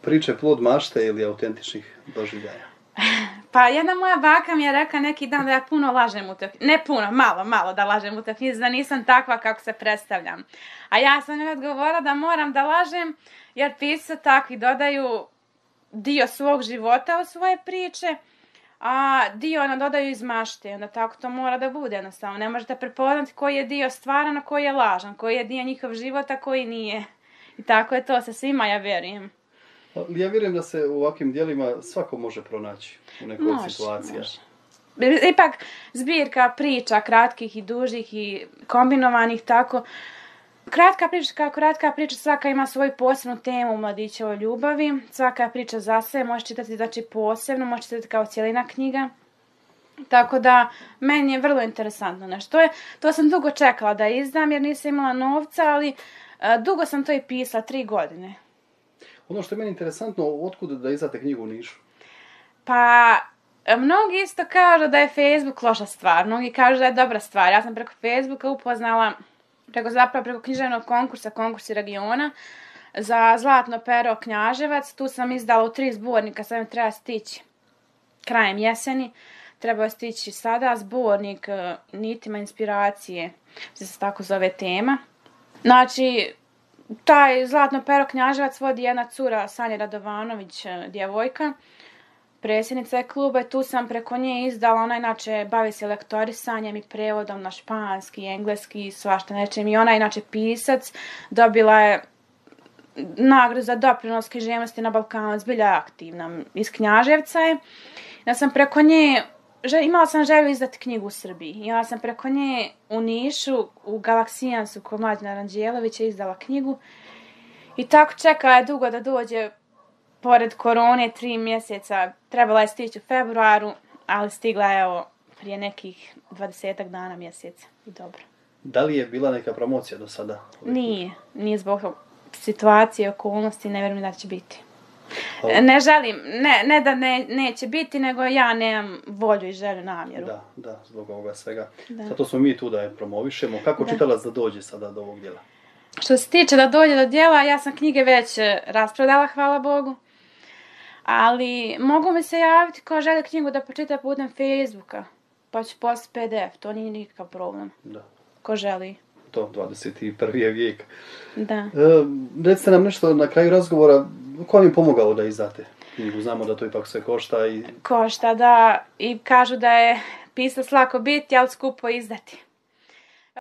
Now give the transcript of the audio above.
priče plod mašte ili autentičnih doživljaja? Pa jedna moja baka mi je rekla neki dan da ja puno lažem u toj knjizi. Ne puno, malo da lažem u toj knjizi, da nisam takva kako se predstavljam. A ja sam joj odgovorila da moram da lažem, jer pisci takvi dodaju dio svog života u svoje priče, a dio dodaju iz mašte. Onda tako to mora da bude jednostavno. Ne možete prepoznati koji je dio stvaran, a koji je lažan, koji je dio njihov života, koji nije. I tako je to sa svima, ja vjerujem. Ja vjerujem da se u ovakvim dijelima svako može pronaći u nekoj situaciji. Ipak zbirka priča, kratkih i dužih i kombinovanih, tako. Kratka priča, svaka ima svoju posebnu temu u mladićevoj ljubavi. Svaka priča za sebe, može čitati znači posebno, može čitati kao cijelina knjiga. Tako da, meni je vrlo interesantno nešto. To sam dugo čekala da izdam jer nisam imala novca, ali dugo sam to i pisala, 3 godine. Ono što je meni interesantno, otkud da izdate knjigu u Nišu? Pa, mnogi isto kažu da je Facebook loša stvar, mnogi kažu da je dobra stvar. Ja sam preko Facebooka upoznala, preko književnog konkursa, konkursi regiona, za Zlatno pero Knjaževac. Tu sam izdala u 3 zbornika, sad mi treba stići krajem jeseni. Treba stići sada zbornik Nitima inspiracije, se tako zove tema. Znači, taj Zlatno pero Knjaževac vodi jedna cura, Sanja Radovanović, djevojka, predsjednica je kluba i tu sam preko nje izdala, ona inače bavi se lektorisanjem i prevodom na španski, engleski, svašta nečem i ona je inače pisac, dobila je nagradu za doprinos književnosti na Balkanu, zbilja aktivna, iz Knjaževca je. Ja sam preko nje, imala sam želju izdati knjigu u Srbiji i ja sam preko nje u Nišu, u Galaksijansu kod Mlađana Ranđelovića izdala knjigu i tako čekala je dugo da dođe. Pored korone 3 mjeseca, trebala je stići u februaru, ali stigla je evo prije nekih 20 dana mjeseca i dobro. Da li je bila neka promocija do sada? Nije zbog situacije, okolnosti, ne vjerujem da će biti. Ne želim, ne da neće biti, nego ja nemam volju i želju, namjeru. Da, zbog ovoga svega. Zato smo mi tu da je promovišemo. Kako čitalac da dođe sada do ovog djela? Što se tiče da dođe do djela, ja sam knjige već rasprodala, hvala Bogu. Ali mogu mi se javiti ko želi knjigu da pročita putem Facebooka, pa ću poslati PDF, to nije nikakav problem. Da. Ko želi. To, 21. je vijek. Da. Recite nam nešto na kraju razgovora, ko vam je pomogao da izdate knjigu? Znamo da to ipak sve košta i... Košta, da. I kažu da je pisac lako biti, ali skupo izdati.